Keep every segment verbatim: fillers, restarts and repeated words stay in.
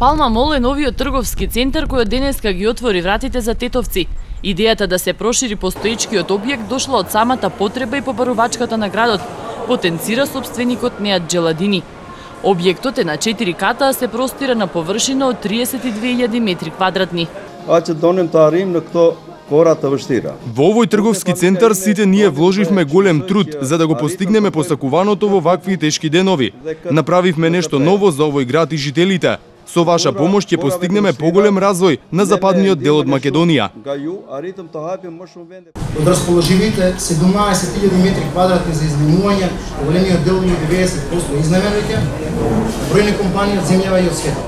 Палма Мол е новиот трговски центар кој денеска ги отвори вратите за тетовци. Идејата да се прошири постоечкиот објект дошла од самата потреба и побарувачката на градот, потенцира собственикот Неат Джеладини. Објектот е на четири ката, а се простира на површина од триесет и две илјади метри квадратни. А ќе донем таа рим на кто кората вштира. Во овој трговски центар сите ние вложивме голем труд за да го постигнеме посакуваното во вакви тешки денови. Направивме нешто ново за овој град и жителите. Со ваша помош ќе постигнеме поголем развој на западниот дел од Македонија. Од расположивите седумнаесет илјади метри квадратни за изнемување, големиот дел од деветдесет проценти изнемевање, бројни компании од земјава и од светот.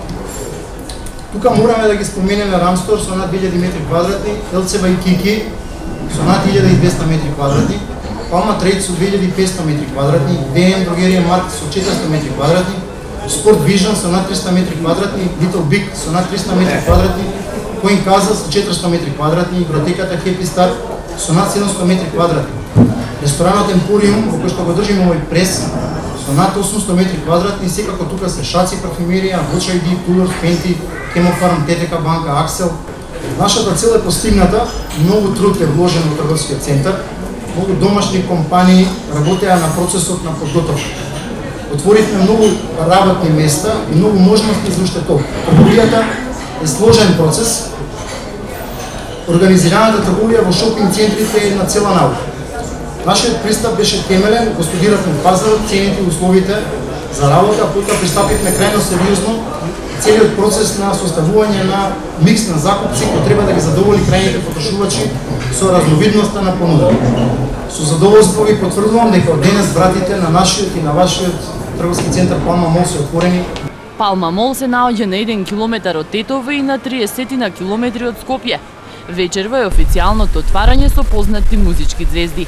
Тука мораме да ги споменеме Рамстор со над две илјади метри квадратни, Елцева и Кики со над илјада и двесте метри квадратни, Палма Трейд со две илјади и петстотини метри квадратни, ДМ Дрогерија Марк со четиристотини метри квадратни, Спорт Вижн со над триста метри квадратни, Little Big со над триста метри квадратни, Коин Каза со четиристотини метри квадратни, игротеката Happy Star со над седумстотини метри квадратни. Ресторанот Емпориум, во кој што го држиме овој прес, со над осумстотини метри квадратни, секако тука се шаци, парфюмерија, Watch ай ди, Tudor, Fenty, Хемофарм, ТТК банка, Аксел. Нашата цел е постигната, многу труд е вложен во трговскиот центар, многу домашни компании работеа на процесот на подготовка. Отворивме многу работни места и многу можности за уште тоа. Трговијата е сложен процес. Организираната трговија во шопинг центрите е една цела наука. Нашиот пристап беше темелен, го студиравме пазарот, цените и условите за работа, потоа пристапивме крајно сериозно целиот процес на составување на микс на закупци кој треба да ги задоволи крајните потрошувачи со разновидноста на понуда. Со задоволство ви потврдувам дека од денес вратите на нашиот и на вашиот трговски центар Палма Мол се отворени. Палма Мол се наоѓа на еден километар од Тетово и на триесет на километри од Скопје. Вечерва е официјалното отварање со познати музички звезди.